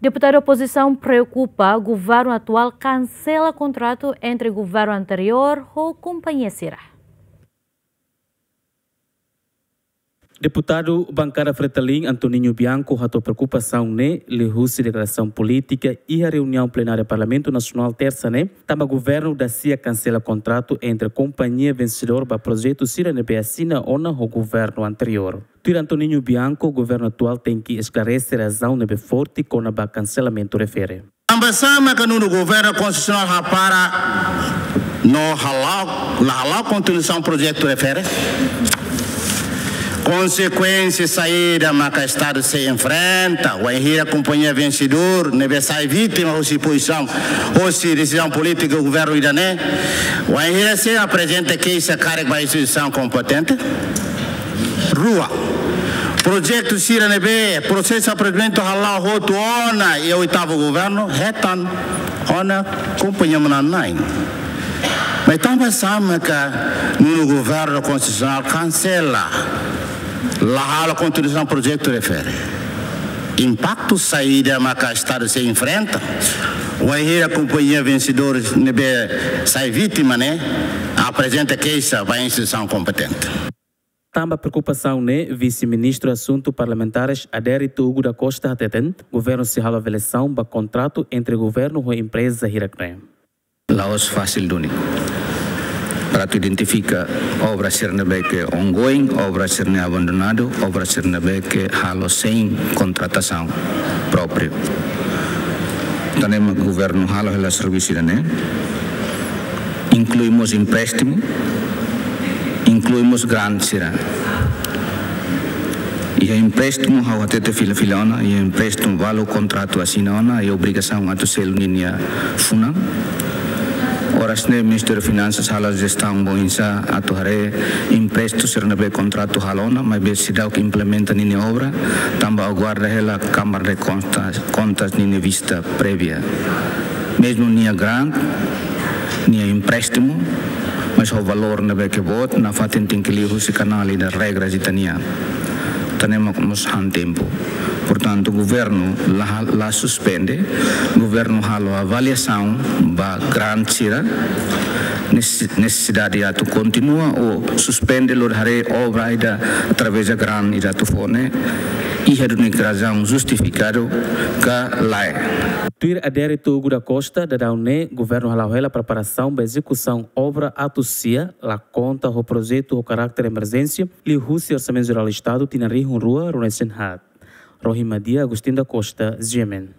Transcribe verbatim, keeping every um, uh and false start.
Deputadu opozisaun preokupa governu atuál kansela kontratu entre governu anteriór ho kompañia sira. Deputadu bankada Fretilin, Antoninho Bianco, hato'o preokupasaun ne'e liuhusi deklarasaun polítika iha reuniaun plenária Parlamentu Nasionál Tersa ne'e, tanba governu dasia kansela kontratu entre kompañia vensedór ba projetu sira ne'ebé asina ona ho governu anteriór. Tuir Antoninho Bianco, governu atuál tenke esklarese razaun ne'ebé forte kona-ba kanselamentu refere. Tanba sá maka nonu governu konstitusionál hapara no hala'o, la hala'o kontinuasaun projetu refere? Konsekuénsia saida maka Estadu sei enfrenta, wainhira kompañia vensedór ne'ebé sai vítima hosi pozisaun, hosi desizaun polítika governu ida-ne'e, wainhira sei aprezenta keixa karik ba instituisaun kompetente? Rua, projetu sira ne'ebé prosesu aprovamentu hala'o hotu ona iha oitavu governu, hetan ona kompañia manán-na'in. Mas tanba sá maka nonu governu konstitusionál kansela, la halo kontinuasaun projetu refere? Impaktu saida maka Estadu sei enfrenta, wainhira kompañia vensedór ne'ebé sai vítima ne'e aprezenta keixa ba instituisaun kompetente? Tanba preokupasaun ne'e, Vise-Ministru Asuntu Parlamentares Adérito Hugo da Costa hateten, governu sei halo avaliasaun ba kontratu entre governu ho empreza hirak-ne'e. La'ós fasil duni para atu identifika obra sira ne'ebé ke ongoing, obra sira ne'e abandonadu, obra sira ne'ebé ke halo sein kontratasaun própriu. Tanba ne'e mak governu halo hela servisu ida-ne'e, inklui mós empréstimu, inklui mós grant sira. Iha empréstimu ha'u hatete fila-fila ona, iha empréstimu balu kontratu asina ona, iha obrigasaun atu selu ninia funan. Oras ne'e Ministériu Finansas halo jestaun ba oinsá atu haree empréstimu sira ne'ebé kontratu halo ona, maibé seidauk implementa ninia obra, tanba aguarda hela Kámara de Kontas, Kontas ninia vista prévia. Mezmu nia grant, nia empréstimu, mas ho valór ne'ebé ke boot, nafatin tenke liuhusi kanál ida, regras ita-nian. Tanba ne'e mak mós han tempu. Portantu, governu la, la suspende, governu halo avaliasaun ba grant sira, nes-, nesesidade atu kontinua ou suspende lori haree obra ida através grant ida atu fó ne'e, iha duni razaun justifikadu ka lae. Tuir Adérito Hugo da Costa, daudaun ne'e governu hala'o hela preparasaun ba ezekusaun obra atu sia, la konta ho projetu ho karáter emerjénsia, liuhusi Orsamentu Jerál Estadu tinan rihun rua ruanulu-resin-haat. Rohi Madia, Agostinho da Costa, G M N.